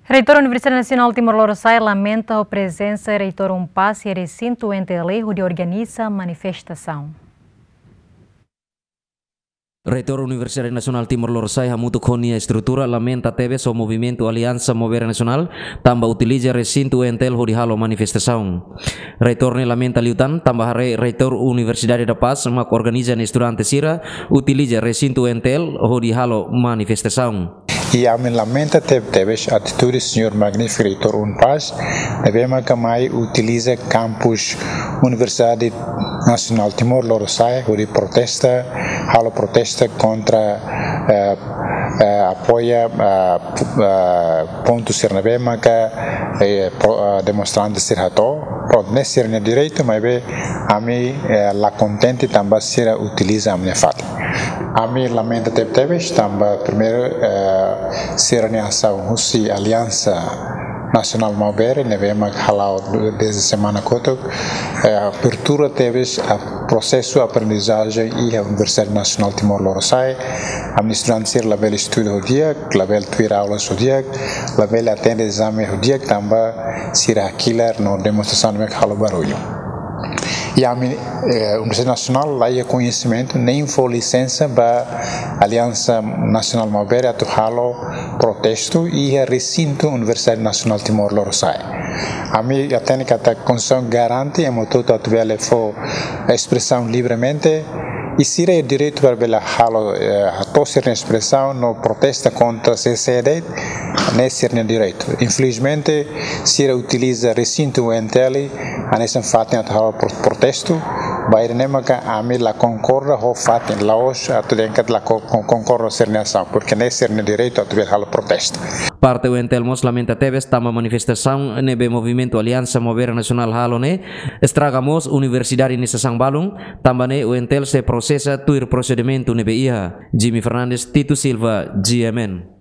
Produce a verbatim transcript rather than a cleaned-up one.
Reitór Universidade Nasionál Timor Lorosa'e lamenta ho prezensa Reitór UNPAZ iha resintu U N T L hodi organiza manifestasaun. Reitór Universidade Nasionál Timor Lorosa'e hamutuk ho nia estrutura lamenta tebes ho movimentu Aliansa Maubere Nasionál tanba utiliza resintu U N T L hodi halo manifestasaun. Reitór ne'e lamenta liután tanba haree Reitór Universidade da Paz mak organiza nia estudante sira utiliza resintu U N T L hodi halo manifestasaun. I ami lamenta teb-, tebes atitude señór magnífiku Reitór UNPAZ, ne'ebé maka mai utiliza kampus Universidade Nasionál Timor Lorosa'e hodi protesta, halo protesta kontra, eh, eh, apoia, eh, p-, eh, pontu sira ne'ebé maka, eh, pro-, eh, demonstrante sira hato'o. Prontu, ne'e sira-nia direitu, maibé ami, eh, la kontente tanba sira utiliza ami-nia fatin. Ami lamenta teb-, tebes tanba primeiru, eh, sira-nia asaun husi Aliansa Nasionál Maubere, ne'ebé mak hala'o dezde semana kotuk, eh, abertura tebes a prosesu aprendizajen iha Universidade Nasionál Timor Lorosa'e. Ami-nia estudante sira labele estuda ho di'ak, labele tuir aulas ho di'ak, labele atende ezame ho di'ak tanba sira hakilar no demonstrasaun ne'ebé mak halo barullu. I ami, eh, Universidade Nasionál la iha koñesimentu, nein fó lisensa ba Aliansa Nasionál Maubere atu halo protestu iha resintu Universidade Nasionál Timor Lorosa'e. Ami hatene katak Konstituisaun garante ema hotu-hotu atu bele fó espresaun livremente, i sira iha direitu para bele halo, eh, hato'o sira-nia espresaun no protesta kontra C C D, ne'e sira-nia direitu. Infelizmente, sira utiliza resintu U N T L hanesan fatin atu halo pro-, protestu, ba ida-ne'e maka ami la konkorda ho fatin, la'ós atu dehan katak la ko-, kon-, konkorda sira-nia asaun, porke ne'e sira-nia direitu atu bele halo protestu. Parte U N T L mós lamenta tebes tanba manifestasaun ne'ebé movimentu Aliansa Maubere Nasionál halo ne'e estraga mós universidade nia sasán balun, tanba ne'e U N T L sei prosesa tuir prosedimentu ne'ebé iha. Jimmy Fernandes, Tito Silva, G M N.